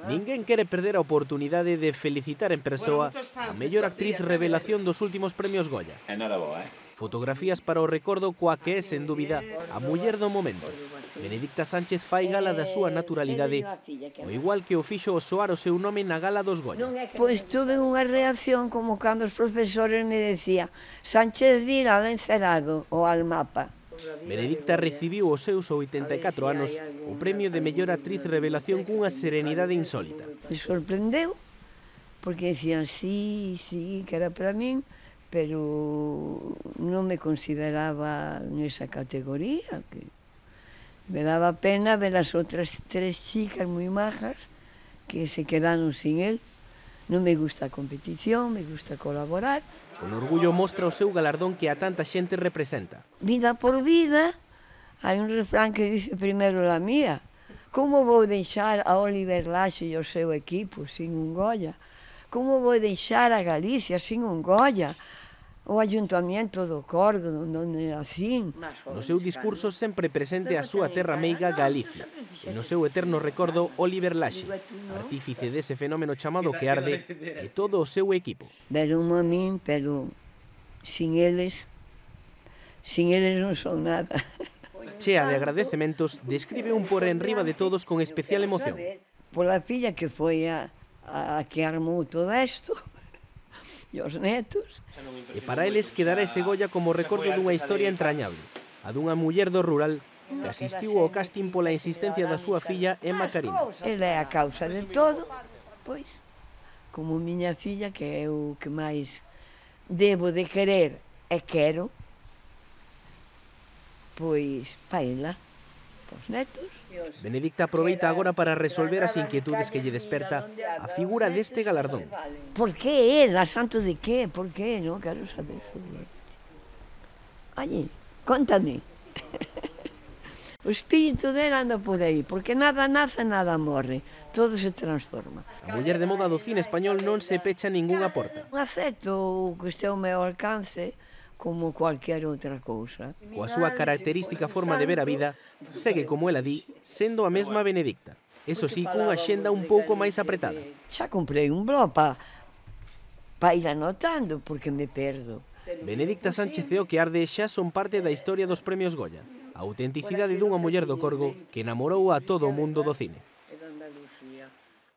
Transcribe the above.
Ninguén quere perder a oportunidade de felicitar en persoa a mellor actriz revelación dos últimos premios Goya. Fotografías para o recordo coa que é, sen dúbida, a muller do momento. Benedicta Sánchez fai gala da súa naturalidade, o igual que o fixo o soar o seu nome na gala dos Goya. Pois tuve unha reacción como cando os profesores me decían Sánchez Vila al encerado ou al mapa. Benedicta recibiu os seus 84 anos o premio de mellor actriz revelación cunha serenidade insólita. Me sorprendeu, porque decían sí, que era para min, pero non me consideraba nesa categoría. Que me daba pena ver as outras tres chicas moi majas que se quedaron sin él. Non me gusta a competición, me gusta colaborar. Con orgullo mostra o seu galardón que a tanta xente representa. Vida por vida, hai un refrán que dice primeiro la mía. Como vou deixar a Oliver Laxe e o seu equipo sin un Goya? Como vou deixar a Galicia sin un Goya? O Ayuntamiento do Corgo, onde nacín. No seu discurso sempre presente a súa terra meiga Galicia. E no seu eterno recordo Oliver Laxe, artífice dese fenómeno chamado que arde, e todo o seu equipo. Deron a min, pero sin eles non son nada. Chea de agradecementos, describe un por enriba de todos con especial emoción. Pola filla que foi a que armou todo isto, e os netos. E para eles quedará ese Goya como recordo dunha historia entrañable, a dunha muller do rural que asistiu ao casting pola insistencia da súa filla Emma Carina. Ela é a causa de todo, pois, como miña filla, que é o que máis debo de querer e quero, pois, pa ela, pos netos. Benedicta aproveita agora para resolver as inquietudes que lle desperta a figura deste galardón. Por que ela? Santo de qué? Por que? Non quero saber sobre ela. Oye, contame. O espírito dela anda por aí, porque nada nace, nada morre. Todo se transforma. A muller de moda do cine español non se pecha ningunha porta. Acepto o que este ao meu alcance, como cualquier outra cousa. Coa súa característica forma de ver a vida, segue, como ela di, sendo a mesma Benedicta. Eso sí, cunha xenda un pouco máis apretada. Xa comprei un blog pa ir anotando, porque me perdo. Benedicta Sánchez e o que arde xa son parte da historia dos premios Goya. A autenticidade dunha muller do Corgo que enamorou a todo o mundo do cine.